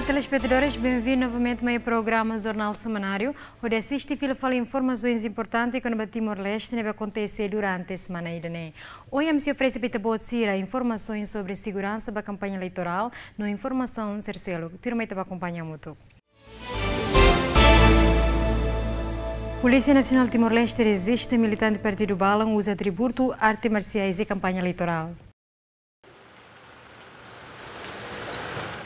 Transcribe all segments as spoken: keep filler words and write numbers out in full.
Telespetadores, benvindu novamente mai programa Jornál Semanáriu, hodi asiste fila fali informasoens importante kona-ba Timor-Leste ne'ebé akontese durante semana ida-ne'e. Ohin ami sei oferese ba ita-boot sira informasoens sobre seguransa ba kampaña eleitorál no informasaun sira seluk. Tuirmai ita bá akompaña hamutuk. Polísia Nasionál Timor-Leste rejista militante partidu balun uza atributu arte marsiais iha kampaña eleitorál.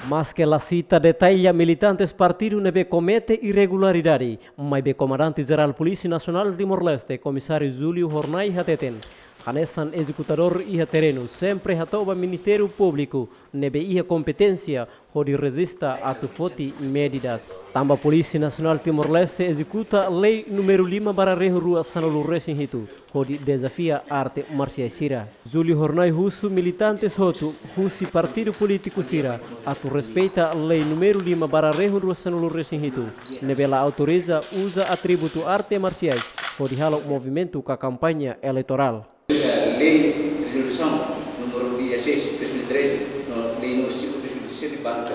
Maske la sita detalle militantes partidu ne'ebé komete irregularidade, maibé Komandante Jerál Polísia Nasionál Timor-Leste, Komisáriu Júlio Hornai hateten, hanesan ezekutadór iha terrenu, sempre hato'o ba Ministériu Públiku ne'ebé iha kompeténsia hodi rejista atu foti medidas. Tanba Polísia Nasionál Timor-Leste ezekuta Lei númeru lima barra rihun rua sanulu resin hitu, hodi dezafia arte marsiais sira. Júlio Hornai husu militantes hotu husi partidu polítiku sira atu respeita Lei númeru lima barra rihun rua sanulu resin hitu, ne'ebé la autoriza uza atributu arte marsiais hodi halo movimentu ka kampaña eleitorál. Lei rezolusaun númeru dezasseis, dois mil e treze, no lei númeru cinco, dois mil e dezessete, banka.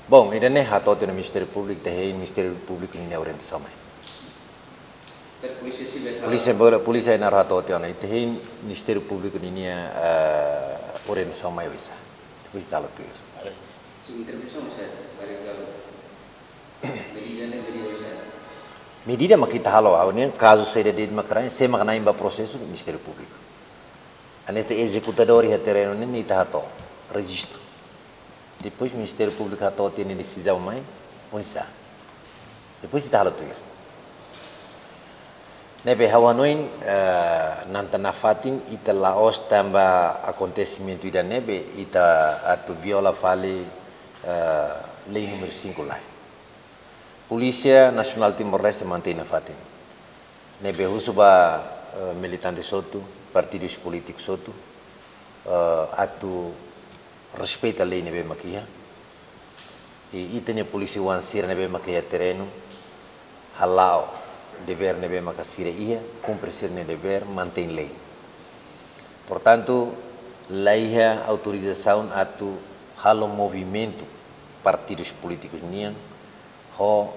Bom, ida-ne'e hato'o tiha ona Ministériu Públiku, ita hein Ministériu Públiku ninia orientasaun mai. Polísia Sivil. Polísia, polísia ina hato'o tiha ona, ita hein Ministériu Públiku ninia, eh, orientasaun mai oinsá. Depois ita halo tuir. Sin, intervensaun, Sir, dari kalau medida ne'e, medida oinsá? Medida mak ita halo, ha'u ne'e kazu saida de'it mak rai, sé mak na'in ba prosesu, Ministériu Públiku. Hanesan ezekutadór iha terrenu ne'e ita hato'o rejistu. Depois Ministériu Públiku hato'o tiha nia desizaun mai, oinsá. Depois ita halo tuir. Ne'ebé ha'u hanoin, eh, nanta nafatin ita la'ós tanba akontesimentu ida-ne'e be ita atu viola fali, eh, Lei númeru cinco lae. Polísia Nasionál Timor-Leste mantein nafatin. Ne'ebé husu ba, eh, militante hotu, partidus polítikus hotu, eh, atu respeita lei ne'ebé mak iha. I ita-nia polísia oan sira ne'ebé mak iha terrenu, hala'o devér ne'ebé mak sira iha, kumpre sira-nia devér, mantein lei. Portantu, la iha autorizasaun atu halo movimentu partidus polítikus nian, ho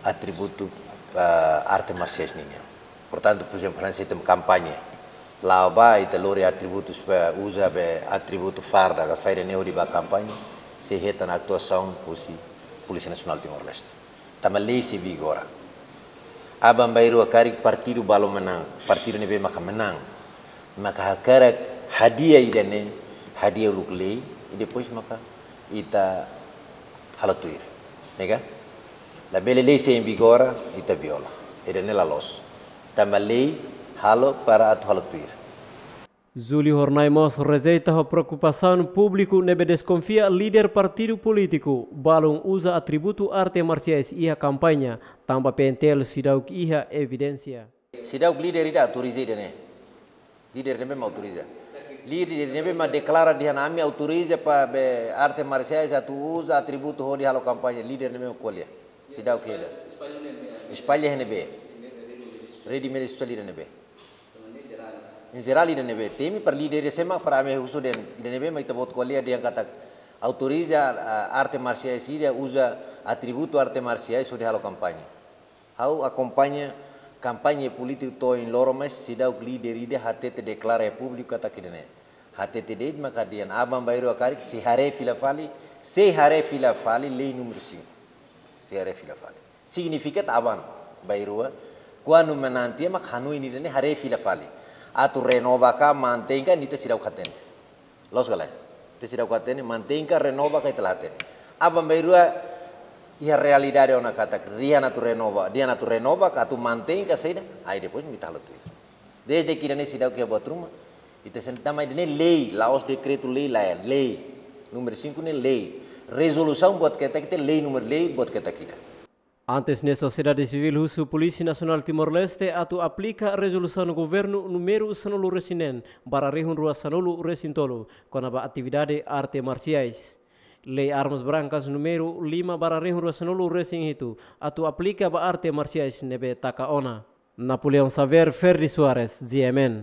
atributu, ah, arte marsiais ninian. Portantu, por ezemplu, hanesan ita kampaña, la'o ba ita lori atributus, eh, uza be atributu farda, ka saida ne'e hodi ba kampaña, sei hetan atuasaun husi Polísia Nasionál Timor-Leste. Tanba lei sei vigora. Aban-bainrua karik partidu balu manán, partidu ne'ebé maka manán, maka hakarak hadi'a ida-ne'e, hadi'a uluk lei, i depois maka ita halo tuir. Ne'e ka? Labele lei sei vigora, ita viola. Ida-ne'e la loos. Tanba lei halo para atu halo tuir. Júlio Hornai mós rejeita ho preokupasaun públiku ne'ebé deskonfia líder partidu polítiku balun uza atributu arte marsiais iha kampaña, tanba P N T L seidauk iha evidénsia. Seidauk líder ida autoriza ida-ne'e. Líder ne'ebé mak autoriza. Líder ne'ebé mak deklara dehan ami autoriza para be arte marsiais atu uza atributu hodi halo kampaña. Líder ne'ebé mak ko'alia. Seidauk ida. Espalla iha ne'ebé. Rede média sosiál ida ne'ebé. Em jerál ida ne'ebé. Temi para líder sira mak para ami husu dehan ida ne'ebé mak ita-boot ko'alia dehan katak autoriza, ah, arte marsiais ida uza atributu arte marsiais hodi halo kampaña. Ha'u akompaña kampaña polítiku to'o ohin loron, mas seidauk líder ida hatete deklara iha públiku katak ida-ne'e. Hatete de'it maka dehan aban-bainrua karik sei haree fila fali, sei haree fila fali lei númeru cinco. Sei haree fila fali. Signifika aban-bainrua, kuandu manán tiha mak hanoin ida-ne'e haree fila fali. Atu renova ka, mantein ka, ne'e ita seidauk hatene. Loos ka lae? Ita seidauk hatene, mantein ka renova ka ita la hatene. Aban-bainrua iha realidade ona katak dehan atu renova, dehan atu renova ka atu mantein ka saida, ai depois mak ita halo tuir. Desde que ida-ne'e seidauk iha buat ruma, ita sente tanba ida-ne'e lei, la'ós dekretu-lei lae, lei. Númeru cinco ne'e lei. Rezolusaun buat ketak ita lei, númeru lei buat ketak ida. Antes ne'e sosiedade sivíl husu Polísia Nasionál Timor-Leste atu aplika rezolusaun governu númeru sanulu resin neen barra rihun rua sanulu resin tolu kona-ba atividade arte marsiais. Lei armas brankas númeru lima barra rihun rua sanulu resin hitu atu aplika ba arte marsiais ne'ebé taka ona. Napoleão Xavier, Ferdi Soares, G M N.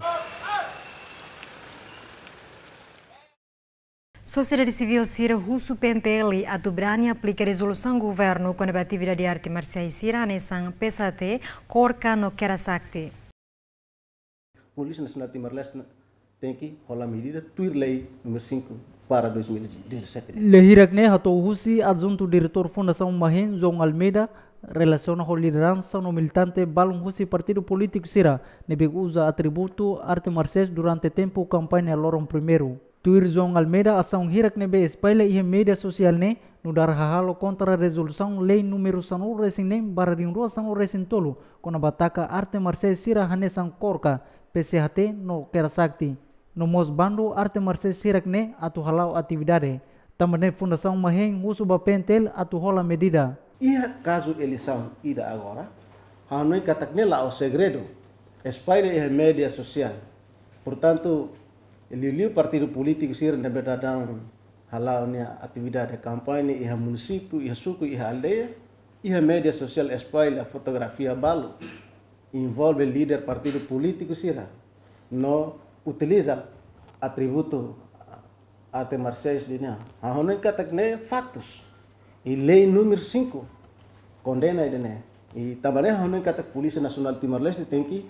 Sosiedade sivíl sira husu P N T L atu brani aplika rezolusaun governu kona-ba atividade arte marsiais sira hanesan P S H T, KORKA no Kera Sakti. Polísia Nasionál Timor-Leste tenke hola medida tuir lei númeru cinco barra dois mil e dezassete. Lia hirak ne'e hato'o husi Adjuntu Diretór Fundasaun MAHEIN, João Almeida, relasiona ho lideransa no militante balun husi partidu polítiku sira ne'ebé uza atributu arte marsiais durante tempu kampaña loron primeiru. Tuir João Almeida, asaun hirak ne'ebé espalla iha média sosiál ne'e nu'udar hahalok kontra rezolusaun lei númeru sanulu-resin-neen barra rihun rua sanulu-resin-tolu, kona-ba taka arte marsiais sira hanesan KORKA, P S H T no Kera Sakti. No mós bandu arte marsiais hirak ne'e atu hala'o atividade. Tanba ne'e Fundasaun MAHEIN husu ba P N T L atu hola medida. Iha kazu eleisaun ida agora, ha'u hanoin katak ne'e la'ós segredu, espalla iha média sosiál. Portantu, liuliu partidu polítiku sira ne'ebé daudaun hala'o nia atividade kampaña iha munisípiu, iha suku, iha aldeia, iha média sosiál espalla fotografia balu envolve líder partidu polítiku sira no utiliza atributu arte marsiais nian. Ha'u hanoin katak ne'e faktus. I lei númeru cinco kondena ida-ne'e. I tanba ne'e ha'u hanoin katak Polísia Nasionál Timor-Leste tenke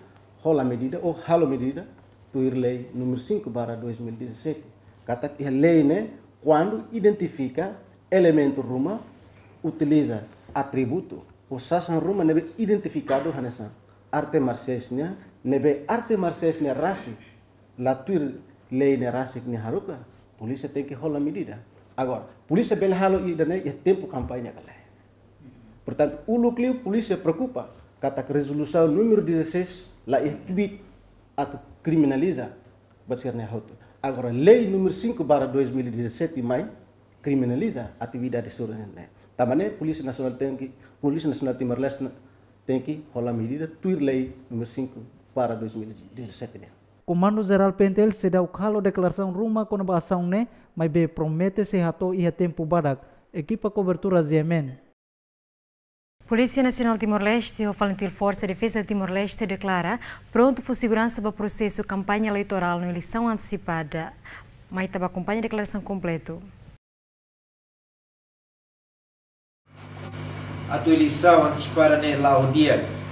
hola medida ou halo medida tuir lei númeru cinco barra dois mil e dezassete. Katak iha lei ne'e kuandu identifika elementu ruma utiliza atributu ou sasán ruma ne'ebé identifikadu hanesan arte marsiais nian, ne'ebé arte marsiais nian rasik la tuir lei ne'e rasik nia haruka, polísia tenke hola medida. Agora, polísia bele halo ida-ne'e iha tempu kampaña ka lae. Portantu, uluk liu polísia preokupa katak rezolusaun númeru dezasseis la iha kbiit atu kriminaliza ba sira-ne'e hotu. Agora, lei númeru cinco barra dois mil e dezassete mai kriminaliza atividade sira-ne'e. Tanba ne'e Polísia Nasionál tenke, Polísia Nasionál Timor-Leste tenke hola medida tuir lei númeru cinco barra dois mil e dezassete nian. Komandu Jerál P N T L seidauk halo deklarasaun ruma kona-ba asaun ne'e, maibé promete sei hato'o iha tempu badak. Ekipa kobertura G M N. Polísia Nasionál Timor-Leste ho FALINTIL Forsa Defeza Timor-Leste deklara prontu fó seguransa ba prosesu kampaña eleitorál no eleisaun antesipada. Mai ita bá akompaña deklarasaun kompletu. Atu eleisaun antesipada ne'e la'o di'ak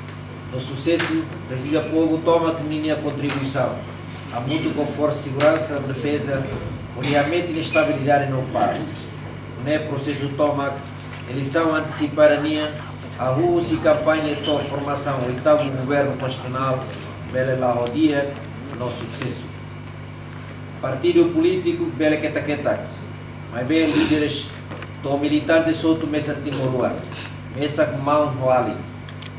no susesu, presiza povu tomak ninia kontribuisaun, hamutuk ho forsa seguransa, defeza, hodi hametin estabilidade no pás. Nune'e prosesu tomak eleisaun antesipada nian, hahú husi kampaña to'o formasaun oitavu governu konstitusionál, bele la'o di'ak no susesu. Partidu polítiku bele ketak-ketak, maibé líderes to'o militantes hotu mesak timoroan, mesak maun ho alin.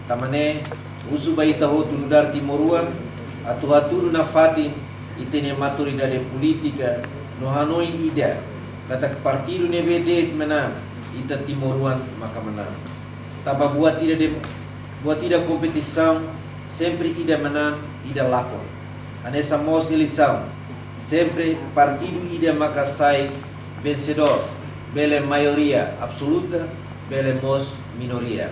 Tanba ne'e, husu ba ita hotu nu'udar timoroan, atu hatudu nafatin ita-nia maturidade polítika no hanoin ida, katak partidu ne'ebé de'it manán, ita timoroan maka manán. Tanba buat ida de, buat ida kompetisaun, sempre ida manán, ida lakon. Hanesan mós eleisaun, sempre partidu ida maka sai vensedór, bele maioria absoluta, bele mós minoria.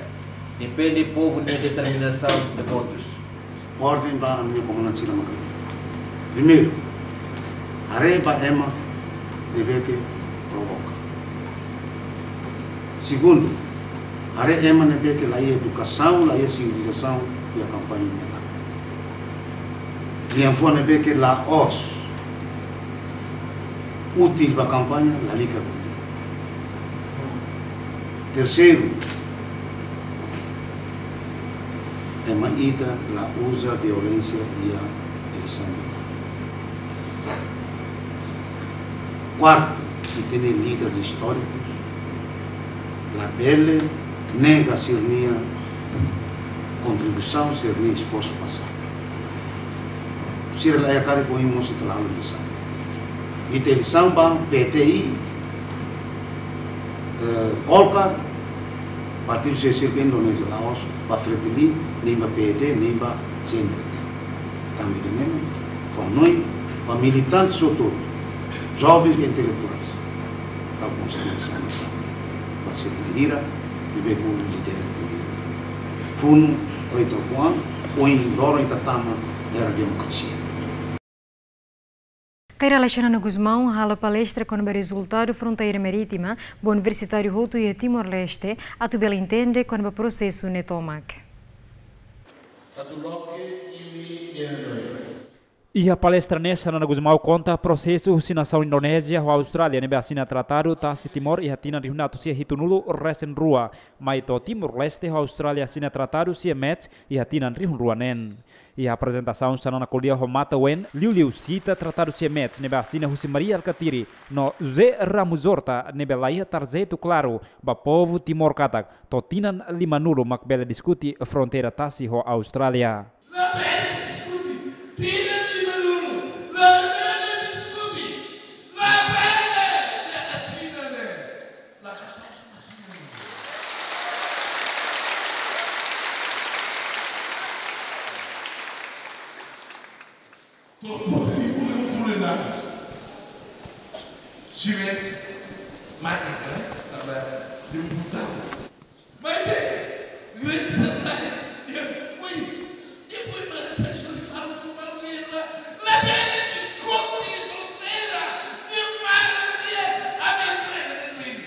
Depende povu nia determinasaun de votus. Orden ba ami-nia komandante sira maka ne'e. Primeiru, haree ba ema ne'ebé ke provoka. Segundu, haree ema ne'ebé ke la iha edukasaun, la iha sivilizasaun iha kampaña ne'e. Lian fua ne'ebé ke la'ós útil ba kampaña, lalika. Terseiru, ema ida la uza violénsia iha eleisaun. Kuartu, ita-nia líderes istórikus labele nega sira-nia kontribuisaun, sira-nia esforsu pasadu. Sira la iha karik ohin mós ita la halo eleisaun. Ita eleisaun ba P T I, eh, KORKA, partidu sira-ne'e ke Indonézia, la'ós ba FRETILIN, nia ba P D, nia ba C N R T. Tanba ne'e, fó hanoin ba militantes hotu, jovens intelektuais, tau konsiénsia ba sira-nia hira, ne'ebé ke lidera ita-nia funu, oito kuan, oin loron ita tama era demokrasia. Kay Rala Xanana Gusmão halo palestra kona-ba rezultadu fronteira marítima ba universitáriu hotu iha Timor-Leste, atu bele entende kona-ba prosesu ne'e tomak. Atu loke imi nia hanoin. Iha palestra ne'e Xanana Gusmão konta prosesu husi nasaun Indonézia ho Austrália ne'ebé asina tratadu tasi Timor iha tinan rihun atus sia hitunulu resin rua, mai to'o Timor-Leste ho Austrália asina tratadu CMAT iha tinan rihun rua neen. Iha aprezentasaun Xanana ko'alia ho matan-ween, liuliu sita tratadu CMAT ne'ebé asina husi Mari Alkatiri no José Ramos-Horta ne'ebé laiha tarjetu klaru ba povu Timor katak to'o tinan limanulu mak bele diskute fronteira tasi ho Austrália. Labele diskute, tinan limanulu, labele diskute, labele, la kasina ne, la kasina ne. Tortura di bulan bulan. Siwe mate kala, tanba di bulan. Maibé, grande surpresa. Oi, e foi para essa solução, solução, labele diskute fronteira, de mara, de aventura, de mimi.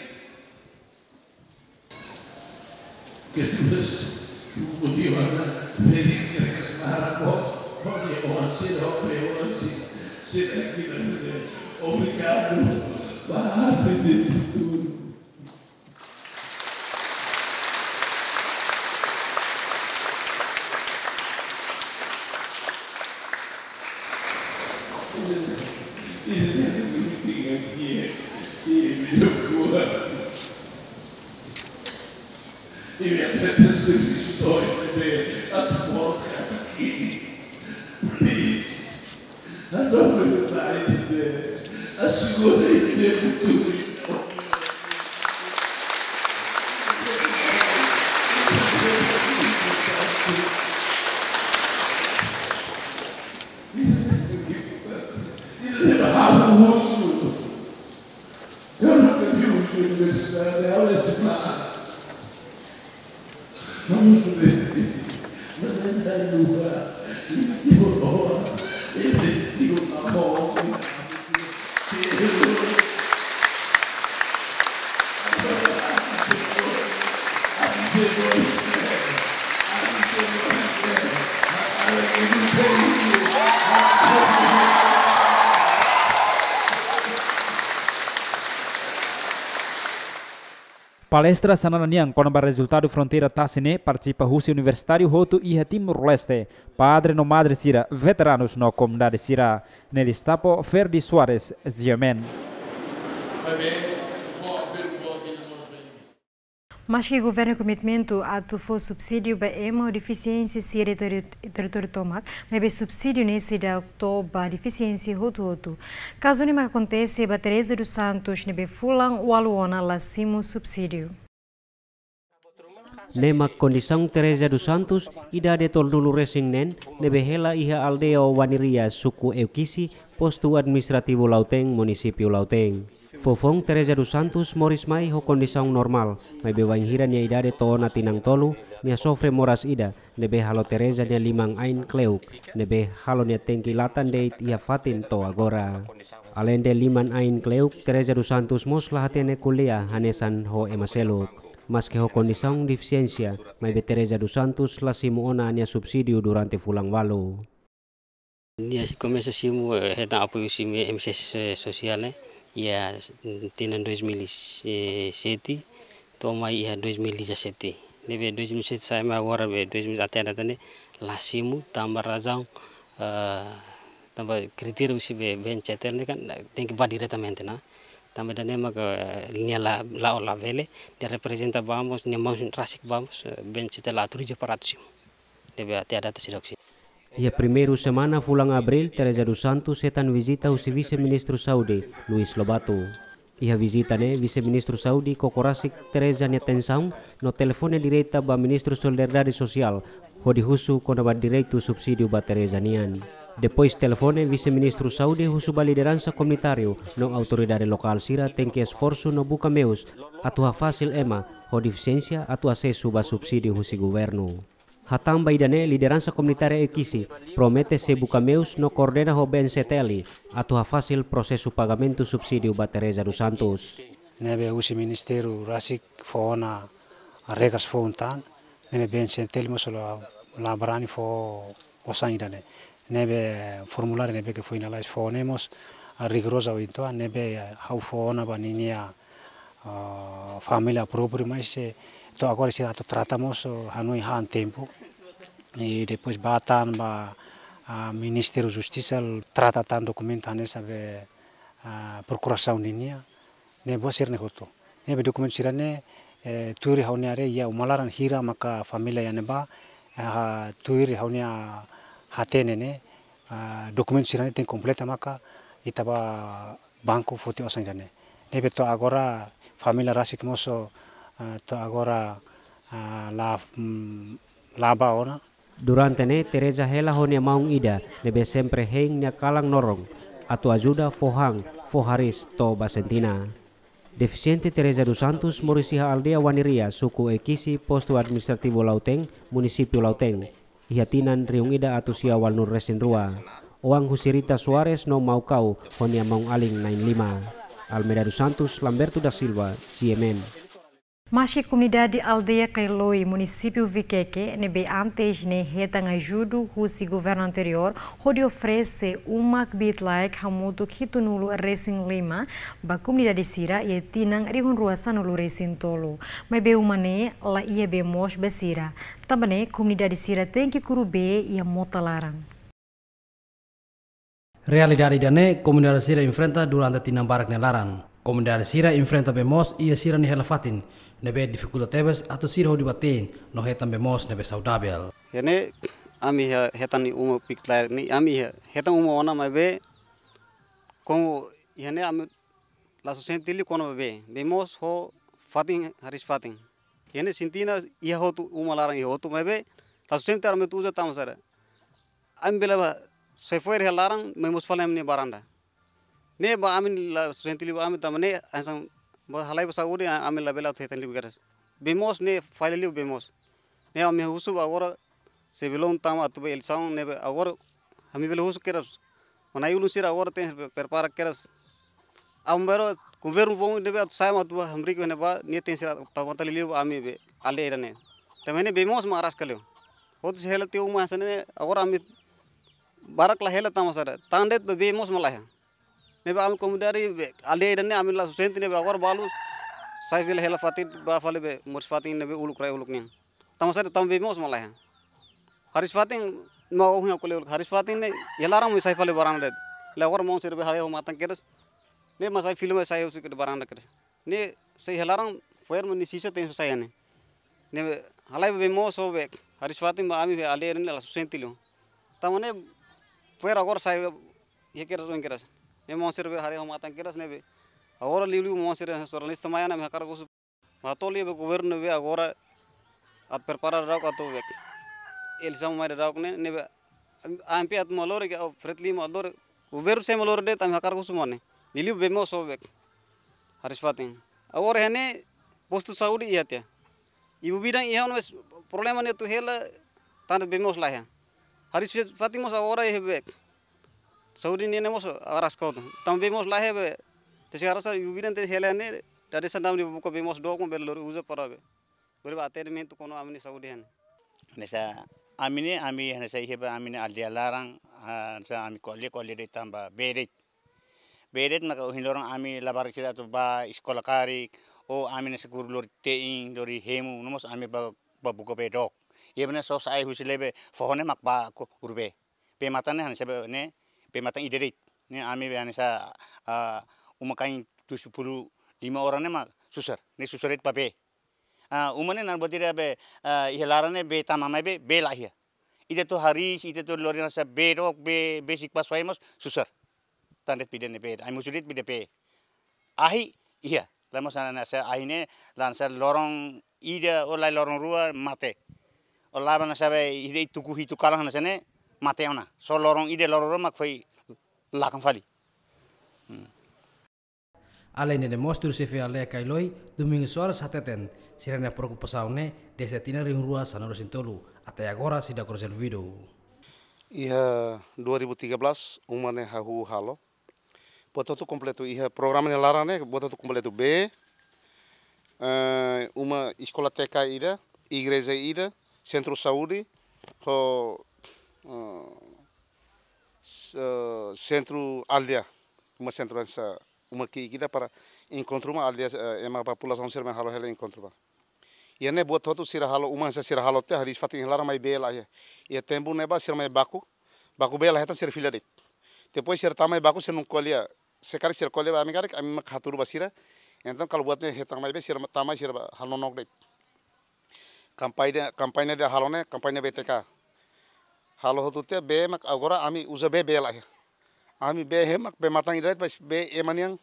Ke tunas, motivo na, se di que se para, pode, pode, o ansi, o pe, o ansi, se daqui, obrigado, para de tudo. Please. Eu nunca vi um universitário de aula escolar. Vamos ver. Mas não é da lua. Ele tirou a bola. Ele tirou a bola. Palestra Xanana nian kona-ba rezultadu fronteira tasi ne'e partisipa husi universitáriu hotu iha Timor-Leste, padre no madre sira, veteranus no komunidade sira. Ne'e Listapo Ferdi Soares, G M N. Maski governu komitmentu atu fó subsídiu ba ema ho defisiénsia sira iha terri-, territóriu tomak, maibé subsídiu ne'e seidauk to'o ba defisiénsia hotu-hotu. Kazu ne'e mak akontese ba Teresa dos Santos ne'ebé fulan ualu ona la simu subsídiu. Ne'e mak kondisaun Teresa dos Santos, idade tolunulu resin neen, ne'ebé hela iha aldeia Waniria, suku Eukici, postu administrativu Lautém, munisípiu Lautém. Fofoun Teresa dos Santos moris mai ho kondisaun normál, maibé bainhira nia idade to'o ona tinan tolu, nia sofre moras ida, ne'ebé halo Teresa nia liman-ain kle'uk, ne'ebé halo nia tenke latan de'it iha fatin to'o agora. Aleinde liman-ain kle'uk, Teresa dos Santos mós la hatene ko'alia hanesan ho ema seluk. Maski ho kondisaun defisiénsia, maibé Teresa dos Santos la simu ona nia subsídiu durante fulan ualu. Nia komesa simu, eh, hetan apoiu husi M S S, eh, sosiál, eh, iha, mm, tinan dois mil e sete, to'o mai iha dois mil e dezassete. Ne'ebé dois mil e sete sai mai agora, be dois mil até data ne'e la simu, tanba razaun, eh, tanba kritéria husi be B N C T L ne'e kan, eh, tenke ba diretamente ona. Tanba ida-ne'e maka, eh, nia la, la, labele, nia reprezenta ba mós, nia mós rasik ba mós, eh, B N C T L la autoriza para atu simu. Ne'ebé até data seidauk simu. Iha primeiru semana fulan Abríl, Teresa dos Santos hetan vizita husi Vise-Ministru Saúde, Luís Lobato. Iha vizita ne'e, Vise-Ministru Saúde koko rasik Teresa nia tensaun no telefone direta ba Ministru Solidariedade Sosiál, hodi husu kona-ba direitu subsídiu ba Teresa nian. Depois telefone, Vise-Ministru Saúde husu ba lideransa komunitáriu no autoridade lokál sira tenke esforsu no buka meius atu hafasil ema ho defisiénsia atu asesu ba subsídiu husi governu. Hatán ba ida-ne'e, lideransa komunitária Oe-Kisi promete sei buka meius no koordena ho B N C T L atu hafasil prosesu pagamentu subsídiu ba Teresa dos Santos. Ne'ebé husi ministériu rasik fó ona regras foun tan, ne'ebé B N C T L mós la, la brani fó osan ida-ne'e. Ne'ebé formuláriu ne'ebé ke finaliza fó ne'e mós, ah, rigoroza uitoan, ne'ebé, ah, ha'u fó ona ba ninia, ah, família própriu, mas, eh, to'o agora sira atu trata mós, oh, hanoin han tempu. I depois bá tan ba, ah, Ministériu Justisa trata tan dokumentu hanesan be, ah, prokurasaun ninia, ne'e buat sira-ne'e hotu. Ne'ebé dokumentu sira-ne'e, eh, tuir ha'u-nia haree iha uma laran hira maka família iha ne'ebá, eh, tuir ha'u-nia hatene ne'e, ah, dokumentu sira-ne'e tenke kompleta maka ita bá banku foti osan ida-ne'e. Ne'ebé to'o agora família rasik mós, ah, to'o agora, ah, la, mm, la bá ona. Durante ne'e, Teresa hela ho nia maun ida ne'ebé sempre hein nia kalan noron atu ajuda fó han, fó hariis to'o Basentina. Defisiente Teresa dos Santos moris iha aldeia Waniria, suku Oe-Kisi, postu administrativu Lautém, munisípiu Lautém, iha tinan rihun ida atus sia ualunulu resin rua. Oan husi Rita Soares no Maukau ho nia maun-alin na'in-lima. Almeida dos Santos, Lamberto da Silva, C M N. Maski komunidade aldeia Kailoi, munisípiu Viqueque, ne'ebé antes ne'e hetan ajuda husi governu anteriór hodi oferese uma kbiit-laek hamutuk hitunulu resin lima ba komunidade sira iha tinan rihun rua sanulu resin tolu. Maibé uma ne'e la iha bee moos ba sira. Tanba ne'e komunidade sira tenke kuru bee iha mota laran. Realidade ida-ne'e komunidade sira enfrenta durante tinan barak nia laran. Komunidade sira enfrenta bee moos iha sira-nia hela-fatin, ne'ebé difikulta tebes atu sira hodi bá te'in no hetan bee moos ne'ebé saudavel. Iha ne'e ami iha hetan ne'e uma kbiit-laek ne'e, ami iha hetan uma ona maibé, komu iha ne'e ami la sustenta liu kona-ba bee, bee moos ho fatin, hariis-fatin. Iha ne'e sintina iha hotu, uma laran iha hotu maibé la sustenta ami atu uza tanba sá. Ami bele bá sai fo'er iha laran, mai moos fali ami-nia baranda. Ne'e ba ami la sustenta liu ami tanba ne'e, hanesan ba halai ba saúde, ami labele atu hetan liu kedas. Bee moos ne'e falla liu bee moos. Ne'e ami husu ba agora, sebelum tama atu ba eleisaun ne'ebé agora, ami bele husu kedas. Mana ulun sira agora tenke prepara kedas. Ami bele governu foun ne'ebé atu sai mak atu ba hamriik iha ne'ebá, nia tenke sira tau matan liu ami be aldeia ida-ne'e. Tanba ne'e bee moos mak araska liu. Hotu sei hela tiha uma hanesan ne'e, agora ami barak la hela tanba sá. Tan de'it be bee moos mak laiha. Ne'ebé ami komunidade be aldeia ida-ne'e ami la sustenta ne'ebé agora balu sai fila hela-fatin bá fali be moris fatin ne'ebé uluk rai uluk nian. Tanba sá tanba bee moos mak laiha. Hariis-fatin mak ohin aku leu hariis-fatin ne'e iha laran mak sai fali baranda de'it. Lae agora maun sira be haree ho matan kedas. Ne'e mak sai fila mak sai husi ke baranda kedas. Ne'e sai iha laran fo'er mak nia sisa tenke sai iha ne'e. Ne'e halai bee moos ho be hariis-fatin ba ami be aldeia ne'e la sustenta liu. Tanba ne'e fo'er agora sai iha kedas oin kedas. Ne'e maun sira be haree ho matan kedas ne'ebé. Agora liuliu maun sira jornalista mai ona ami hakarak husu. Atu liu be governu be agora atu prepara daudauk atu be eleisaun mai daudauk ne'e, ne'ebé ami atu mak lori ke, oh, Fred Lima atu lori. Governu sei mak lori de'it ami hakarak husu maun ne'e. Liuliu bee moos ho be hariis-fatin. Agora iha ne'e postu saúde iha tiha. Ibu bidan iha ona mas problema ne'e atu hela tanba bee moos laiha. Hariis-fatin mós agora iha be saúde nian ne'e mós araska hotu. Tanba bee moos laiha be. Te se arasa ibu bidan te hela ne'e, dade sandam ne'e buka bee moos dook mak bele lori uza para be. Bele ba atendimentu kona-ba ami-nia saúde iha ne'e. Hanesan ami ne'e, ami hanesan iha be ami-nia aldeia laran, ah, hanesan ami ko'alia, ko'alia de'it tanba bee de'it. Bee de'it maka ohin loron ami labarik sira atu bá eskola karik, ou ami hanesan kuru lori te'in, lori hemu, no mós ami bá, bá buka bee dook. Iha be ne'e só sa'e husi Lebe foho ne'e mak bá kuru bee. Bee matan ne'e hanesan be ne'e, bee matan ida de'it. Ne'e ami be hanesan, ah, uma-kain tujuh puluh lima orang ne'e mak susar. Ne'e susar de'it ba bee. Ah, uma ne'e na'in-buat ida be, ah, iha laran ne'e bee tama maibé, bee la iha. Ita atu hariis, ita atu lori hanesan bee dook, bee, besik ba soe mós susar. Tan de'it pide ne'e bee, ai musu de'it pide bee. Ahi, iha. La mós hanesan ahi ne'e, la hanesan loron ida, ou lae loron rua, mate. Ou la hanesan be, ida tuku hitu kalan hanesan ne'e, mate ona. Só loron ida, loron rua, mak foin lakan fali. Hmm. Aleinde ne'e mós tuir xefe aldeia Kailoi, Domingos Soares hateten, Sira-nia preokupasaun ne'e desde tinan rihun rua sanulu-resin-tolu, até agora seidauk rezolvidu. Iha dua ribu tiga belas, uma ne'e hahú halo. Buat hotu kompletu, iha programa nia laran ne'e, buat hotu kompletu, bee, eh, uma eskola T K ida, igreja ida, sentru saúde, ho, eh, s-, eh, sentru aldeia, uma sentru hanesan uma ki'ik ida para enkontru ba aldeia, eh, ema populasaun sira mai halo hela enkontru ba. Iha ne'e buat hotu sira halo, uma hanesan sira halo tiha, hariis-fatin iha laran, mai bee laiha. Iha tempu ne'ebá sira mai baku, baku bee laiha tan sira fila de'it. Depois sira tama mai baku, sira nunka ko'alia. Se karik sira ko'alia ba ami karik, ami mak hatudu ba sira. Entaun kalau buat ne'e hetan mai bee, sira tama mai sira bá halo nonook de'it. Kampaña, kampaña ida halo ne'e, kampaña B T K. Halo hotu tiha, bee mak agora ami uza bee, bee laiha. Ami bee iha mak bee-matan ida de'it, mas bee ema nian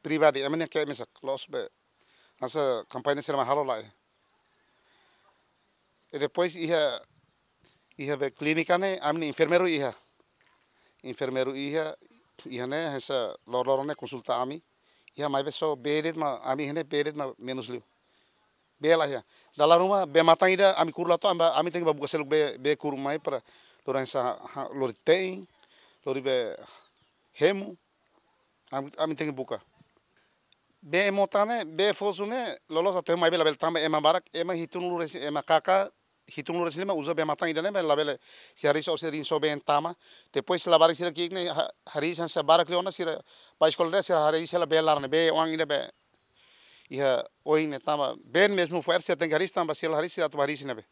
pribadi, ema nian ke'e mesak, loos bee. Hanesan kampaña sira mai halo laiha. I depois iha, iha be klínika ne'e, ami-nia enfermeiru iha. Enfermeiru iha, iha ne'e, hanesan loroloron ne'e konsulta ami. Iha maibé só bee de'it mak, ami iha ne'e bee de'it mak menus liu. Bee laiha. Dala ruma bee-matan ida ami kuru la to'o, ami, ami tenke bá buka seluk bee, bee kuru mai para lori hanesan, ha, lori te'in, lori bee hemu. Ami, ami tenke buka. Bee mota ne'e, bee fosu ne'e, loloos até mai bee labele tama, ema barak, ema hitunulu-resin, ema kaka hitunulu-resin-lima uza bee-matan ida ne'e, labele, se hariis ou se rin só bee tama. Depois labarik sira ki'ik ne'e, ha-, hariis hanesan barak liu ona sira bá eskola de'it, sira hariis hela bee laran ne'e, bee oan ida be iha oin ne'e tama. Bee mezmu fo'er sira tenke hariis tanba sira hariis sira atu hariis ne'ebé.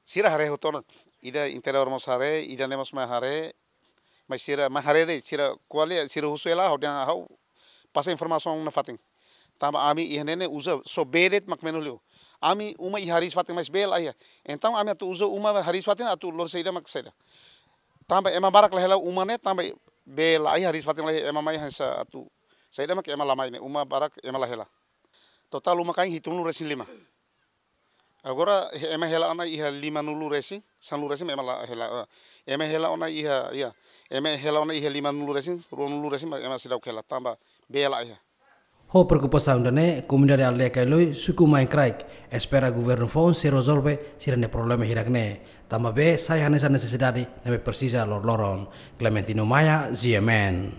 Sira haree hotu ona, ida interiór mós haree, ida ne'e mós mai haree, mas sira mai haree de'it, sira ko'alia, sira husu hela, ha'u dehan ha'u pasa informasaun nafatin. Tanba ami iha ne'e ne'e uza só bee de'it mak menus liu. Ami uma iha hariis-fatin mas bee laiha. Entaun ami atu uza uma hariis-fatin atu lori saida mak saida. Tanba ema barak la hela uma ne'e, tanba bee laiha, hariis-fatin laiha, ema mai hanesan atu saida mak ema la mai ne'e, uma barak ema la hela. Totál uma-kain hitunulu-resin-lima. Agora, he-, ema hela ona iha limanulu-resin, sanulu-resin ema la hela, eh, ema hela ona iha, iha, ema hela ona iha limanulu-resin, ruanulu-resin, ema seidauk hela, tanba bee laiha. Ho preokupasaun ida-ne'e, komunidade aldeia Kailoi, suku Main Kraik, espera governu foun sei rezolve sira-nia problema hirak ne'e. Tanba bee sai hanesan nesesidade ne'ebé presiza loroloron. Clementino Maia, G M N.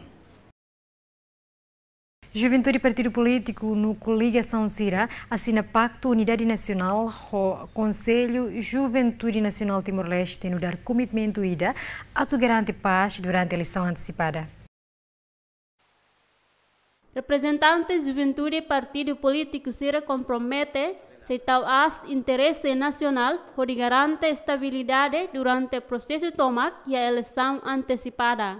Juventude partidu polítiku no koligasaun sira asina Paktu Unidade Nasionál ho Konsellu Juventude Nasionál Timor-Leste nu'udar komitmentu ida atu garante pás durante eleisaun antesipada. Reprezentante juventude partidu polítiku sira kompromete sei tau aas interese nasionál hodi garante estabilidade durante prosesu tomak iha eleisaun antesipada.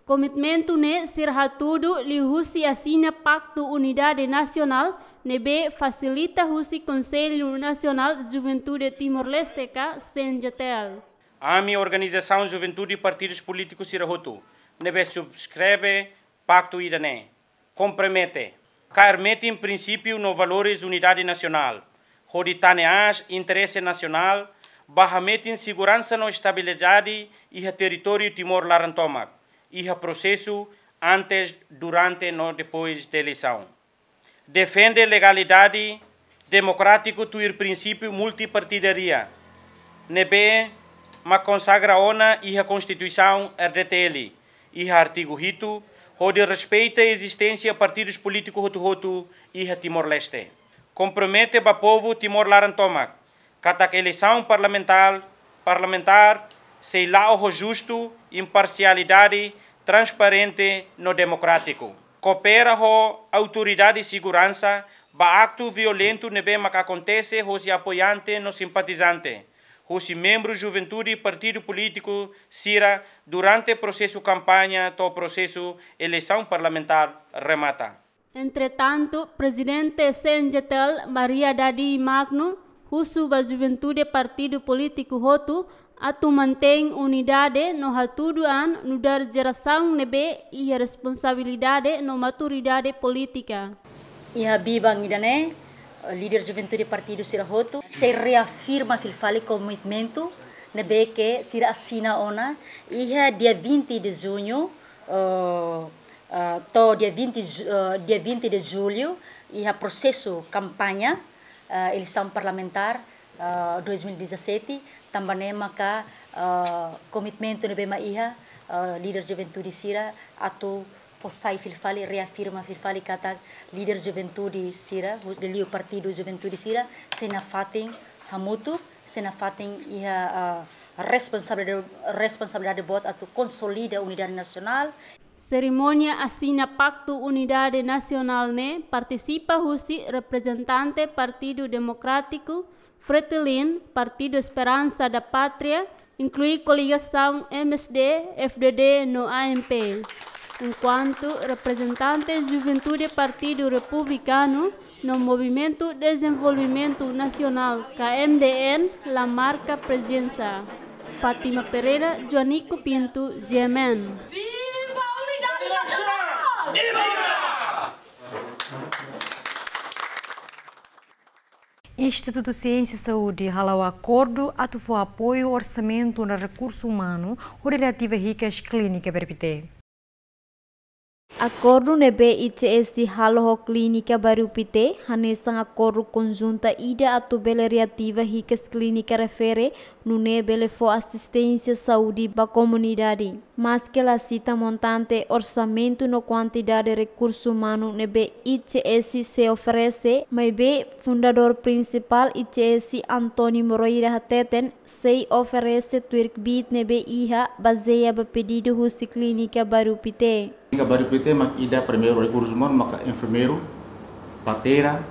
Komitmentu ne'e sira hatudu liuhusi asina Paktu Unidade Nasionál ne'ebé fasilita husi Konsellu Nasionál Juventude Timor-Leste ka C N J T L. Ami organizasaun juventude partidus polítikus sira hotu ne'ebé subskreve paktu ida-ne'e kompromete kaer metin prinsípiu no valores unidade nasionál, hodi tane aas interese nasionál, ba hametin seguransa no estabilidade iha territóriu Timor laran tomak, iha prosesu antes, durante no depois de eleisaun. Defende legalidade demokrátiku tuir prinsípiu multipartidaria, ne'ebé mak konsagra ona iha Konstituisaun R D T L, iha artigu hitu, hodi respeita ezisténsia partidus polítiku hotu-hotu iha Timor-Leste. Kompromete ba povu Timor laran tomak, katak eleisaun parlamentár, parlamentár sei la'o ho justu, imparsialidade, transparente no demokrátiku. Koopera ho autoridade seguransa ba aktu violentu ne'ebé mak akontese hosi apoiante no simpatizante, hosi membru juventude partidu polítiku sira durante prosesu kampaña to'o prosesu eleisaun parlamentár remata. Entretantu, Prezidente C N J T L, Maria Dadi Magno, husu ba juventude partidu polítiku hotu atu mantein unidade no hatudu an nu'udar jerasaun ne'ebé iha responsabilidade no maturidade polítika. Iha biban ida-ne'e, líder juventude partidu sira hotu sei reafirma fila fali komitmentu ne'ebé ke sira asina ona iha dia vinte de junho, eh, eh, to'o dia vinte ju-, eh, dia vinte de julho, iha prosesu kampaña, eh, eleisaun parlamentár, eh, dois mil e dezassete, tanba ne'e maka, eh, komitmentu ne'ebé mak iha, eh, líder juventude sira atu fó sai fila fali, reafirma fila fali katak líder juventude sira, hus-, liuliu partidu juventude sira, sei nafatin hamutuk, sei nafatin iha, eh, responsabilidade, responsabilidade boot atu konsolida unidade nasionál. Serimónia asina Paktu Unidade Nasionál ne'e partisipa husi reprezentante Partidu Demokrátiku, Fretilin, Partidu Esperansa da Pátria, inklui koligasaun M S D, F D D no A M P. Enkuantu reprezentante juventude Partidu Republikanu no Movimentu Dezenvolvimentu Nasionál, K M D N, la marka prezensa. Fátima Pereira, Joanico Pinto, G M N. Viva a unidade nacional! Institutu Siénsia Saúde hala'o akordu atu fó apoiu orsamentu no rekursu umanu hodi reativa hikas klínika Bairru Pité. Akordu ne'ebé I C S halo ho klínika Bairru Pité hanesan akordu konjunta ida atu bele reativa hikas klínika refere, nune'e bele fó asisténsia saúde ba komunidade. Maske la sita montante orsamentu no kuantidade rekursu umanu ne'ebé I C S sei oferese, maibé fundadór prinsipál I C S, António Moreira, hateten sei oferese tuir kbiit ne'ebé iha, bazeia ba pedidu husi klínika Bairru Pité. Klínika Bairru Pité mak ida primeiru rekursu umanu maka enfermeiru, parteira.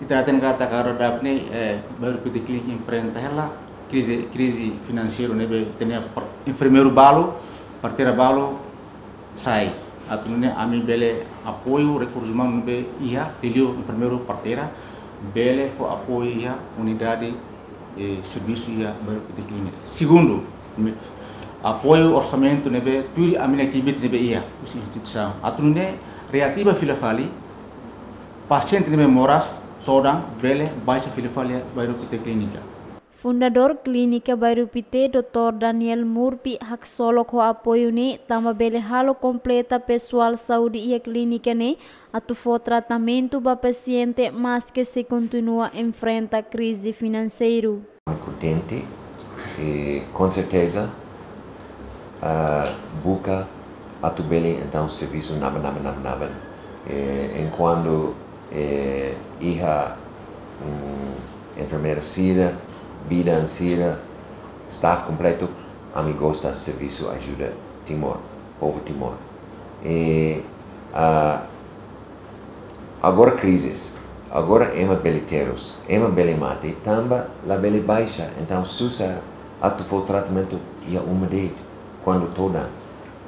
Ita hatene katak agora daudaun ne'e, eh, Bairru Pité Klínika enfrenta hela krize, krize finanseiru ne'ebé tenke par-, enfermeiru balu, parteira balu sai. Atu nune'e ami bele apoiu rekursu umanu ne'ebé iha, liuliu enfermeiru, parteira, bele fó apoiu iha unidade, eh, servisu iha Bairru Pité Klínika. Segundu, mi-, apoiu orsamentu ne'ebé tuir ami-nia kbiit ne'ebé iha husi instituisaun. Atu nune'e reativa fila fali pasiente ne'ebé moras todan bele baixa fila fali iha Bairru Pité Klínika. Fundadór Klínika Bairru Pité, doutór Daniel Murphy, haksolok ho apoiu ne'e tanba bele halo kompleta pesoál saúde iha klínika ne'e atu fó tratamentu ba pasiente, maske sei kontinua enfrenta krize finanseiru. Kontente, i, com certeza, ah, buka atu bele entaun servisu naban, naban, naban, naban. Eh, enkuantu, eh, iha, mm, enfermeira sira, bidan sira, staff kompletu, ami gosta servisu ajuda Timor, povu Timor. I, ah, agora krizes, agora ema bele terus, ema bele mate, tanba la bele baixa, entaun susar atu fó tratamentu iha uma de'it, kuandu todan.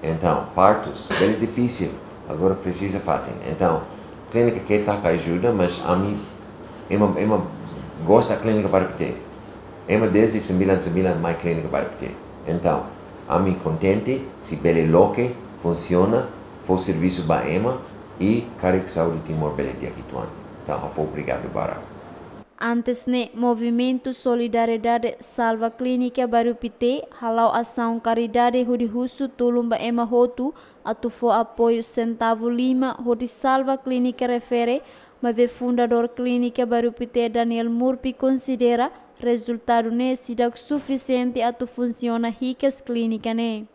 Entaun, partus, bele difisil, agora presiza fatin. Entaun, klínika ke taka ajuda, mas ami, ema, ema gosta klínika Bairru Pité. Ema dezde sembilan sembilan mai klínika Bairru Pité. Entaun, ami kontente, se bele loke, funsiona, fó servisu ba ema, i karik saúde Timor bele di'ak uitoan. Entaun, ha'u fó obrigadu barak. Antes ne'e, Movimentu Solidariedade Salva Klínika Bairru Pité hala'o asaun karidade hodi husu tulun ba ema hotu atu fó apoiu sentavu lima hodi salva klínika refere, maibé fundadór klínika Bairru Pité, Daniel Murphy, konsidera rezultadu ne'e seidauk sufisiente atu funsiona hikas klínika ne'e.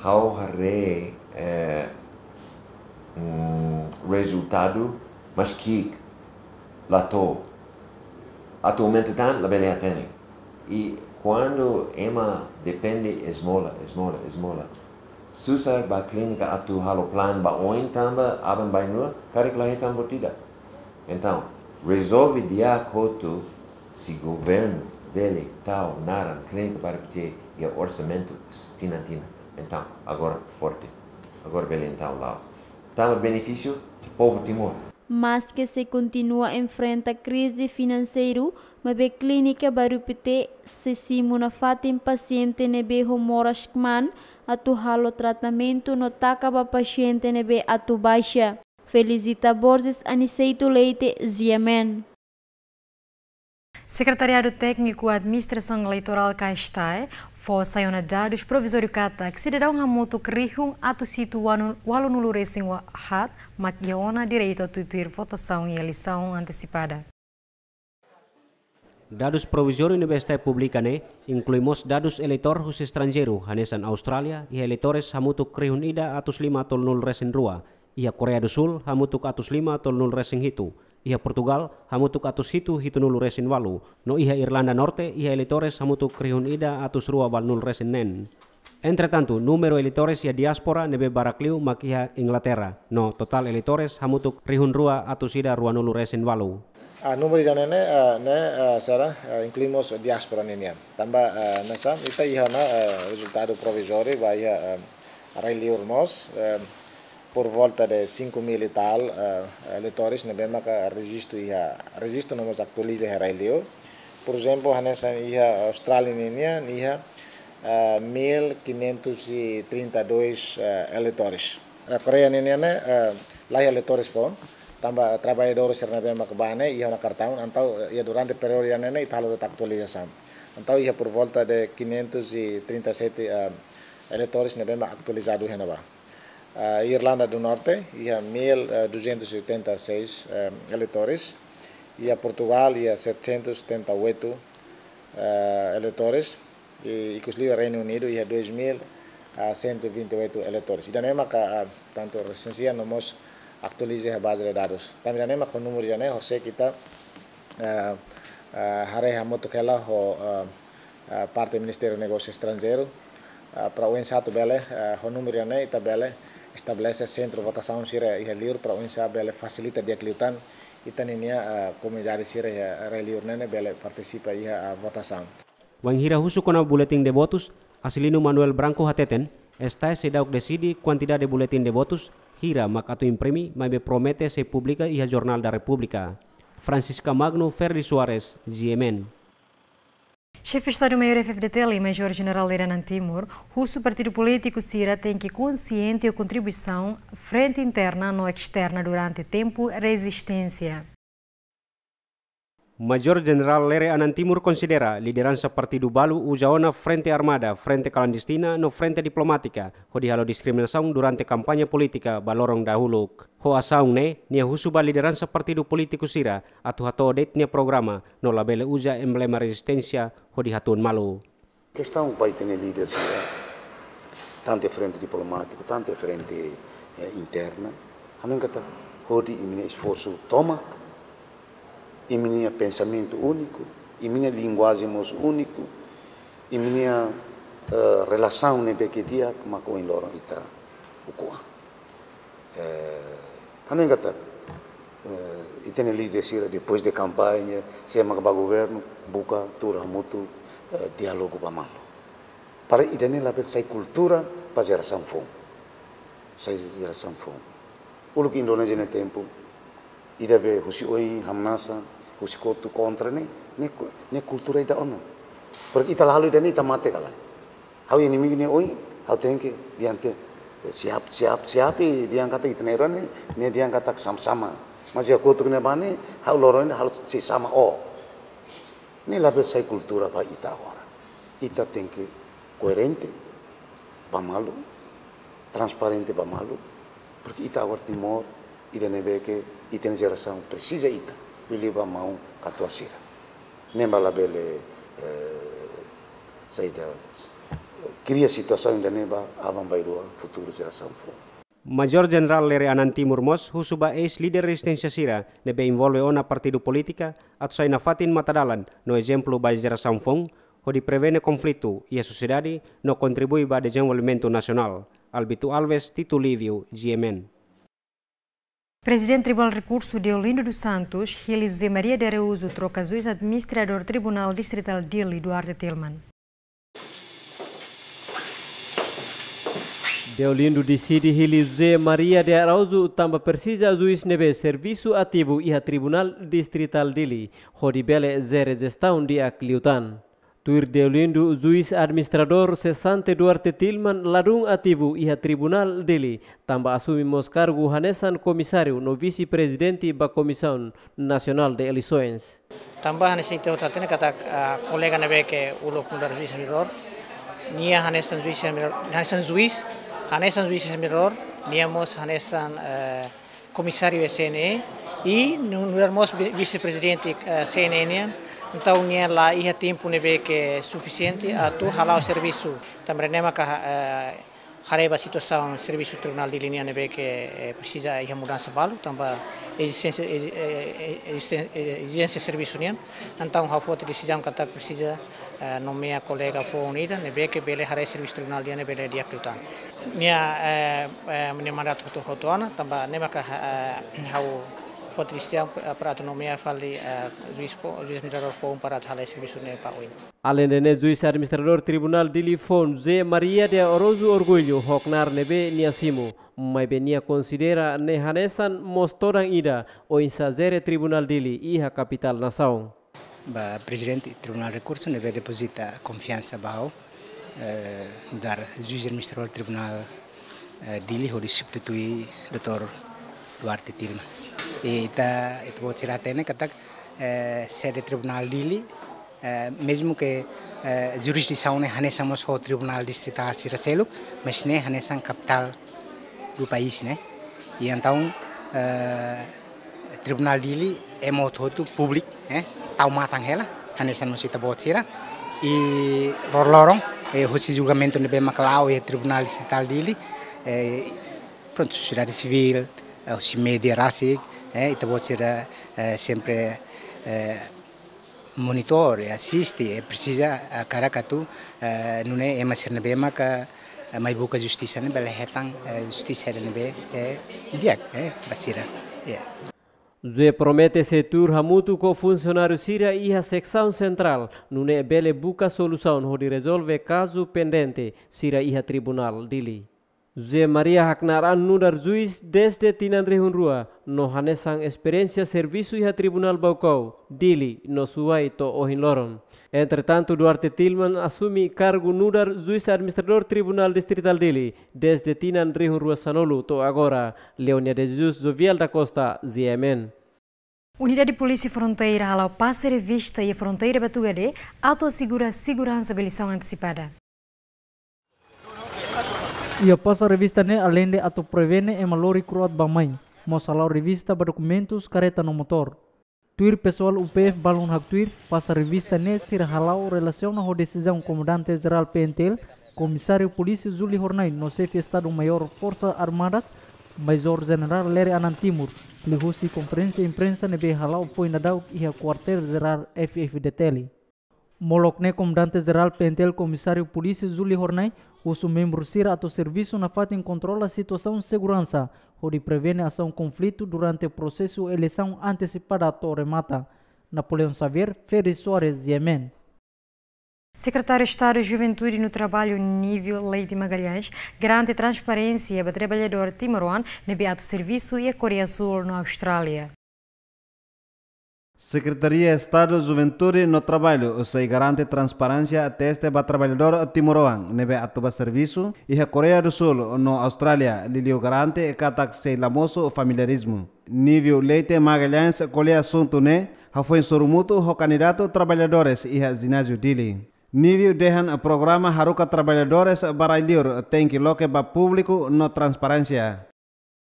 Ha'u haree, eh, mm, rezultadu, mas ki'ik la to'o. Atualmente tan labele hatene. I kuandu ema depende ezmola, ezmola, ezmola, susar ba klínika atu halo plan ba oin tanba aban-bainrua, karik la hetan buat ida. Entaun, rezolve di'ak hotu se governu bele tau naran klínika Bairru Pité iha orsamentu tinan-tinan. Entaun, agora forte. Agora bele entaun la'o. Tama benefísiu povu Timor. Maske sei kontinua enfrenta krize finanseiru, maibé klínika Bairru Pité sei simu nafatin pasiente ne'ebé ho moras kmaan atu halo tratamentu no taka ba pasiente ne'ebé atu baixa. Felicita Borges, Aniceto Leite, G M N. Sekretariadu Tékniku Administrasaun Eleitorál, KESTAE, fó sai ona dadus provizóriu katak sidadaun hamutuk rihun atus hitu walu-, walunulu-resin-haat mak iha ona direitu atu tuir votasaun iha eleisaun antesipada. Dadus provizóriu ne'ebé STAE publika ne'e inklui mós dadus eleitór husi estranjeiru, hanesan Austrália, iha eleitores hamutuk rihun ida atus lima tolunulu resin rua, iha Koreia do Sul hamutuk atus lima tolunulu resin hitu, iha Portugal hamutuk atus hitu hitunulu resin walu, no iha Irlanda Norte iha eleitores hamutuk rihun ida atus rua walunulu resin neen. Entretantu, númeru eleitores iha diáspora ne'ebé barak liu mak iha Inglaterra, no totál eleitores hamutuk rihun rua atus ida ruanulu resin walu. Ah, númeru ida-ne'e ne'e, ah, ne'e, ah, sira, ah, inklui mós diáspora ninian. Tanba, ah, hanesan ita iha ona, ah, rezultadu provizóriu ba iha, ah, rai-liur mós, ah, por volta de cinco mil e tal, ah, eleitores ne'ebé maka rejistu iha, rejistu no mós aktualiza iha rai-liur. Por ezemplu, hanesan iha Austrália ninian iha, ah, mil quinhentos e trinta e dois, ah, eleitores. Ah, Koreia ninian ne'e, ah, la iha eleitores foun, tanba traballadór sira ne'ebé maka bá ne'e iha ona kartaun, entaun, eh, iha durante períodu ida-ne'e ne'e ita halo de'it aktualizasaun. Entaun iha por volta de quinhentos e trinta e sete, ah, eleitores ne'ebé mak aktualizadu iha ne'ebá. Ah, Irlanda do Norte iha mil duzentos e oitenta e seis, eh, eleitores, iha Portugal iha setecentos setenta e oito, eh, eleitores, i ikus liu Reinu Unidu iha dois mil cento e vinte e oito eleitores. Ida-ne'e maka, ah, tantu resensia no mós aktualiza iha baze de dadus. Tanba ida-ne'e maka númeru ida-ne'e horisehik ita, ah, ah, haree hamutuk hela ho, ah, ah, parte Ministériu Negósiu Estranjeiru, ah, para oinsá atu bele, ah, ho númeru ida-ne'e ita bele estabelese sentru votasaun sira iha liur para oinsá bele fasilita di'ak liután ita ninia, ah, komunidade sira iha rai-liur ne'e ne'e bele partisipa iha, ah, votasaun. Wainhira husu kona-ba buletin de votus, Acilino Manuel Branco hateten, STAE seidauk deside kuantidade buletin de votus hira mak atu imprime, maibé promete sei publika iha Jornál da Repúblika. Francisca Magno, Ferdi Soares, G M N. Xefe Estadu-Maiór F-FDTL, Majór Jenerál Lere Anan Timur, husu partidu polítiku sira tenke konsiente ho kontribuisaun frente interna no esterna durante tempu rezisténsia. Majór Jenerál Lere Anan Timur konsidera lideransa partidu balu uza ona frente armada, frente klandestina no frente diplomátika hodi halo diskriminasaun durante kampaña polítika ba loron dahuluk. Ho asaun ne'e, nia husu ba lideransa partidu polítiku sira atu hato'o de'it nia programa no labele uza emblema rezisténsia hodi hatún malu. Kestaun ba ita-nia líder sira, tantu iha frente diplomátiku, tantu iha frente, eh, interna, hanoin katak hodi imi-nia esforsu tomak, imi-nia pensamentu úniku, imi-nia linguajen mós úniku, imi-nia, eh, relasaun ne'ebé ke di'ak mak ohin loron ita ukun an. Eh, hanoin katak, eh, ita-nia líder sira depois de kampaña, se mak ba governu, buka tuur hamutuk, eh, diálogu ba malu. Para ida-ne'e labele sai kultura ba jerasaun foun. Sai jerasaun foun. Uluk Indonézia nia tempu, ida be husi oin hamnasa, husi kotuk kontra ne'e, ne'e ku-, ne'e kultura ida ona. Porke ita la halo ida-ne'e ita mate ka lae. Ha'u inimigu nia oin, ha'u tenke di'ak, eh, siap, siap, siap, i dehan katak ita-nia rai ne'e, ne'e dehan katak sama-sama. Mas iha kotuk ne'ebá ne'e, ha'u loron ne'e halo sei sama o. Ne'e labele sai kultura ba ita agora. Ita tenke koerente ba malu, transparente ba malu, porke ita agora Timor, ida ne'ebé ke ita-nia jerasaun presiza ita, liuliu ba maun katuas sira. Ne'e mak labele, eh, saida, kria situasaun ida-ne'e ba aban-bainrua futuru jerasaun foun. Majór Jenerál Lere Anan Timur mós husu ba eis-líder rezisténsia sira ne'ebé envolve ona partidu polítika atu sai nafatin matadalan no ezemplu ba jerasaun foun, hodi prevene konflitu iha sosiedade no kontribui ba dezenvolvimentu nasionál. Albito Alves, Tito Lívio, G M N. Prezidente Tribunál Rekursu Deolindo dos Santos hili José Maria de Araújo troka juís administradór Tribunál Distritál Dili, Duarte Tilman. Deolindo deside hili José Maria de Araújo tanba presiza juís ne'ebé servisu ativu iha Tribunál Distritál Dili, hodi bele jere jestaun di'ak liután. Tuir Deolindo, juís administradór sesante Duarte Tilman ladún ativu iha Tribunál Dili, tanba asume mós kargu hanesan komisáriu no vise-prezidente ba Komisaun Nasionál de Eleisoens. Tanba hanesan ita hotu hatene katak, ah, kolega ne'ebé ke uluk nu'udar juís administradór, nia hanesan juís administradór, hanesan juís, hanesan juís administradór, nia mós hanesan, eh, komisáriu C N E, i nu-, nu'udar mós vi-, vise-prezidente, eh, C N E nian, Entaun, nia la iha tempu ne'ebé ke sufisiente atu hala'o servisu. Tanba ne'e maka, eh, haree ba situasaun servisu Tribunál Dili nian ne'ebé ke, eh, presiza iha mudansa balu, tanba ezijénsia, ezi-, eh, eh, ezijénsia, eh, ezijénsia servisu nian. Entaun, ha'u foti desizaun katak presiza, eh, nomeia kolega foun ida ne'ebé ke bele haree servisu Tribunál Dili nian bele di'ak liután. Nia, eh, eh, nia mandatu hotu, hotu ona, tanba ne'e maka, eh, ha'u foti desizaun pa-, para atu nomeia fali, eh, juís fo-, juís administradór foun para atu hala'o servisu ne'e ba oin. Aleinde ne'e, juís administradór Tribunál Dili foun, José Maria de Araújo Orgulho, ho knaar ne'ebé nia simu, maibé nia konsidera ne'e hanesan mós todan ida oinsá jere Tribunál Dili iha kapitál nasaun. Ba Prezidente Tribunál Rekursu ne'ebé depozita konfiansa ba ha'u, eh, nu'udar juís administradór Tribunál, eh, Dili hodi substitui doutór Duarte Tilman. I ita, ita-boot sira hatene katak, eh, sede Tribunál Dili, eh, mezmu ke, eh, jurisdisaun ne'e hanesan mós ho tribunál distritál sira seluk, mas ne'e hanesan kapitál do país, ne'e. I entaun, eh, Tribunál Dili ema hotu-hotu públiku, eh, tau matan hela, hanesan mós ita-boot sira. I loroloron, eh, husi julgamentu ne'ebé mak la'o iha Tribunál Distritál Dili, eh, prontu, sosiedade sivíl, eh, husi média rasik, eh, ita-boot sira, eh, sempre, eh, monitor, eh, asiste, eh, presiza, eh, hakarak atu, eh, nune'e ema sira ne'ebé maka, eh, mai buka justisa ne'e bele hetan, eh, justisa ne'ebé, eh, di'ak, eh, ba sira. Ya. José promete sei tuur hamutuk ho funsionáriu sira iha seksaun sentrál, nune'e bele buka solusaun hodi rezolve kazu pendente sira iha Tribunál Dili. José Maria haknaar an nu'udar juís dezde tinan rihun rua, no hanesan esperiénsia servisu iha Tribunál Baucau, Dili, no Suai to'o ohin loron. Entretantu, Duarte Tilman asume kargu nu'udar juís administradór Tribunál Distritál Dili dezde tinan rihun rua sanulu to'o agora, Leonia de Jesus, Jovial da Costa, G M N. Unidade Polísia Fronteira hala'o pasa revista iha fronteira Batugade atu asegura seguransa ba eleisaun antesipada. Iha pasa revista ne'e aleinde atu prevene ema lori kro'at bá-mai, mós hala'o revista ba dokumentus kareta no motór. Tuir pesoál U P F balun haktuir, pasa revista ne'e sira hala'o relasiona ho desizaun Komandante Jerál P N T L, Komisáriu Polísia Júlio Hornai no Xefe Estadu Maiór Forsas Armadas, Majór Jenerál Lere Anan Timur, liuhusi konferénsia imprensa ne'ebé hala'o foin daudauk iha Kuartél Jerál F F D T L. Molok ne'e Komandante Jerál P N T L Komisáriu Polísia Júlio Hornai husu membru sira atu servisu nafatin kontrola situasaun seguransa, hodi prevene asaun konflitu durante prosesu eleisaun antesipada to'o remata. Napoleão Xavier, Ferri Soares, G M N. Sekretáriu Estadu Juventude no Trabalho, Nívio Leite Magalhães, garante transparénsia ba trabalhadór timoroan ne'ebé atu servisu iha Koreia Súl no Austrália. Sekretaria Estadu Juventude no Trabalho sei garante transparénsia teste ba trabalhadór timoroan ne'ebé atu bá servisu iha Koreia do Súl no Austrália, liuliu garante katak sei la mosu familiarizmu. Nívio Leite Magalhães ko'alia asuntu ne'e hafoin sorumutu ho kandidatu trabalhadores iha jináziu Dili. Nívio dehan programa haruka trabalhadores ba rai-liur tenke loke ba públiku no transparénsia.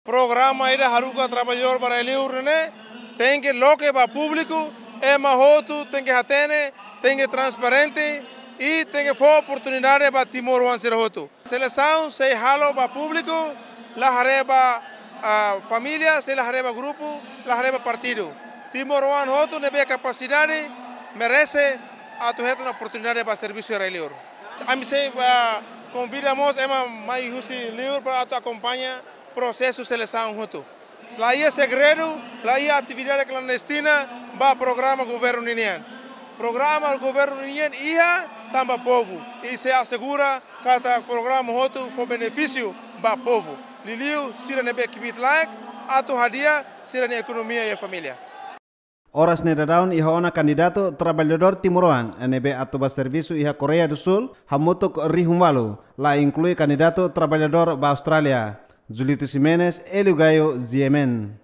Programa ida haruka trabalhadór ba rai-liur ne'e tenke loke ba públiku, ema hotu tenke hatene, tenke transparente i tenke fó oportunidade ba timoroan sira hotu. Selesaun sei halo ba públiku, la haree ba, ah, família, sei la haree ba grupu, la haree ba partidu. Timoroan hotu ne'ebé kapasidade merese atu hetan oportunidade ba servisu iha rai-liur. Ami sei, ah, konvida mós ema mai husi liur para atu akompaña prosesu selesaun hotu. La iha segredu, la iha atividade klandestina ba programa governu ninian. Programa governu ninian iha tanba povu. I sei asegura katak programa hotu fó benefísiu ba povu. Liuliu sira ne'ebé kbiit-laek atu hadi'a sira-nia ekonomia i família. Oras ne'e daudaun iha ona kandidatu trabalhadór timoroan ne'ebé atu bá servisu iha Koreia do Súl hamutuk rihun ualu, la inklui kandidatu trabalhadór ba Austrália. Julito Ximenes, Hélio Gaio, G M N.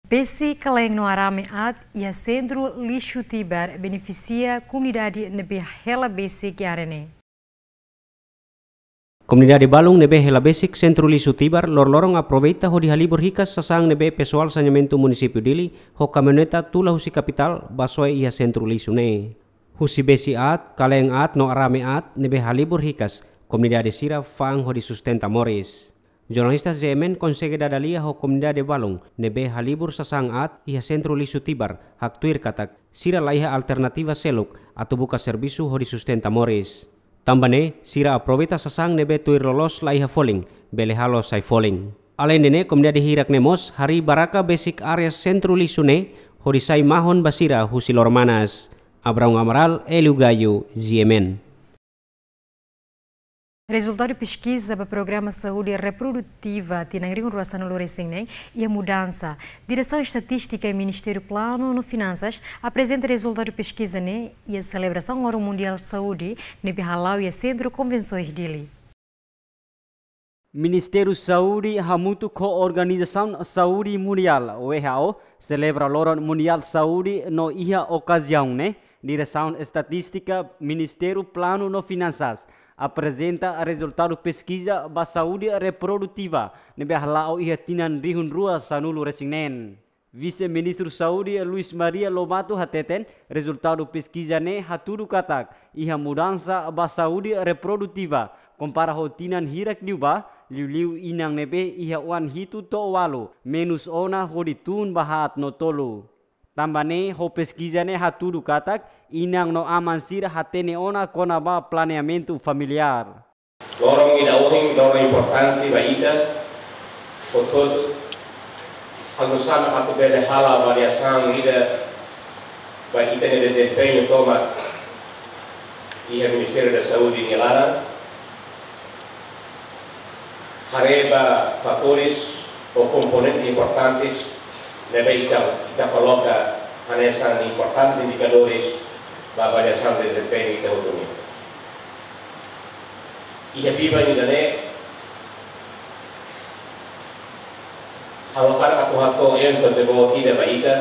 Besik kale'en no arame aat iha sentru lixu Tibar benefisia komunidade ne'ebé hela besik iha área ne'e. Komunidade balun ne'ebé hela besik Sentru Lixu Tibar loroloron aproveita hodi halibur hikas sasán ne'ebé pesoál saneamentu munisípiu Dili ho kamioneta tula husi kapitál ba soe iha sentru lixu ne'e. Husi besi aat, kaleen aat no arame aat ne'ebé halibur hikas, komunidade sira fa'an hodi sustenta moris. Jornalista G M N konsege dada lia ho komunidade balun ne'ebé halibur sasán aat iha sentru lixu Tibar, haktuir katak sira laiha alternativa seluk atu buka servisu hodi sustenta moris. Tanba ne'e, sira aproveita sasán ne'ebé tuir loloos laiha folin, bele halo sai folin. Aleinde ne'e, komunidade hirak ne'e mós harii baraka besik área sentru lixu ne'e hodi sai mahon ba sira husi loro-manas. Abraão Amaral, Hélio Gaio, G M N. Rezultadu peskiza ba Programa Saúde Reprodutiva tinan rihun rua sanulu resin neen iha mudansa. Diresaun Estatístika Ministériu Planu no Finansas aprezenta rezultadu peskiza ne'e iha selebrasaun Loron Mundiál Saúde ne'ebé hala'o iha Sentru Konvensoens Dili. Ministériu Saúde hamutuk ho Organizasaun Saúde Mundiál, W H O, selebra Loron Mundiál Saúde no iha okaziaun ne'e, Diresaun Estatístika Ministériu Planu no Finansas aprezenta rezultadu peskiza ba saúde reprodutiva ne'ebé hala'o iha tinan rihun rua sanulu resin neen. Vise-Ministru Saúde Luis Maria Lobato hateten, rezultadu peskiza ne'e hatudu katak iha mudansa ba saúde reprodutiva, kompara ho tinan hirak liubá, liuliu inan ne'ebé iha oan hitu to'o ualu, menus ona hodi tun ba haat no tolu. Tanba ne'e, ho peskiza ne'e hatudu katak inan no aman sira hatene ona kona-ba planeamentu familiár. Loron ida ohin, loron importante ba ita hotu-hotu. Halo nu'usá mak atu bele halo avaliasaun ida ba ita-nia dezempeñu tomak iha Ministériu da Saúde nia laran. Haree ba fatores ou komponentes importantes ne'ebé ita, ita koloka hanesan importantes indikadores ba avaliasaun dezempeñu ita hotu nian. Iha biban ida-ne'e, ha'u hakarak atu hato'o énfaze boot ida ba ita,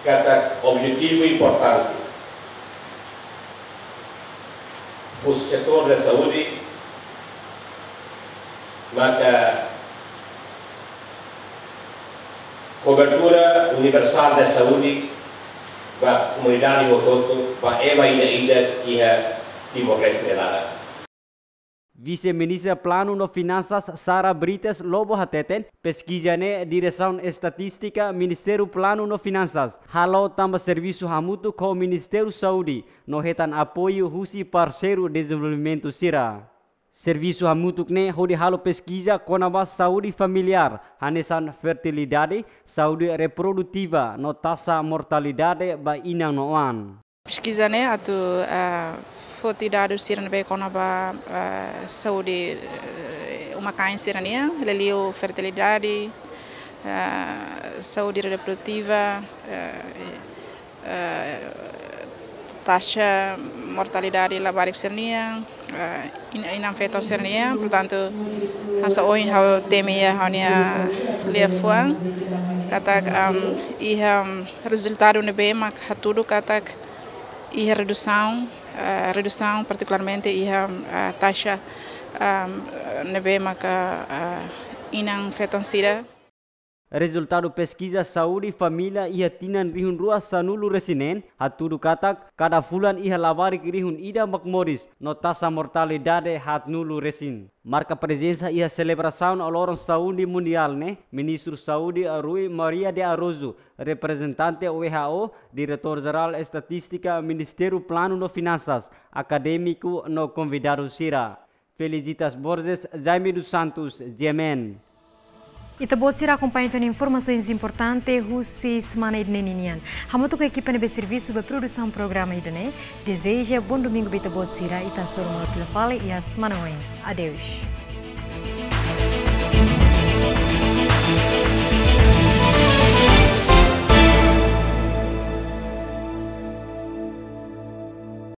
katak objetivu importante husi setór da saúde maka kobertura universál da saúde ba komunidade hotu-hotu, ba ema ida-idak iha Timor-Leste nia laran. Vise-Ministra Planu no Finansas Sara Brites Lobo hateten, peskiza ne'e Diresaun Estatístika Ministériu Planu no Finansas halo tanba servisu hamutuk ho Ministériu Saúde no hetan apoiu husi parseiru dezenvolvimentu sira. Servisu hamutuk ne'e hodi halo peskiza kona-ba saúde familiár, hanesan fertilidade, saúde reprodutiva no taxa mortalidade ba inan no oan. Peskiza ne'e atu, ah, foti dadus sira ne'ebé kona-ba, ah, saúde, eh, uma-kain sira-nian, liuliu fertilidade, ah, saúde reprodutiva, eh, eh, taxa mortalidade labarik sira-nian, eh, in-, inan-feton sira-nian, portantu, hanesan ohin ha'u temi iha ha'u-nia liafuan, katak, am, iha, am, rezultadu ne'ebé mak hatudu katak iha redusaun, eh, redusaun partikularmente iha, eh, taxa, am, ne'ebé maka, eh, inan-feton sira. Rezultadu peskiza saúde família iha tinan rihun rua sanulu resin neen hatudu katak kada fulan iha labarik rihun ida mak moris no taxa mortalidade haatnulu resin. Marka prezensa iha selebrasaun Loron Saúde Mundiál ne'e, Ministru Saúde Rui Maria de Araújo, reprezentante W H O, Diretór Jerál Estatístika Ministériu Planu no Finansas, akadémiku no konvidadu sira. Felicitas Borges, Jaime dos Santos, G M N. Ita-boot sira akompaña tiha ona informasoens importante husi semana ida-ne'e ninian. Hamutuk ho ekipa ne'ebé servisu ba produsaun programa ida-ne'e, dezeja bom domingu ba ita-boot sira, ita hasoru malu fila fali iha semana oin. Adeus.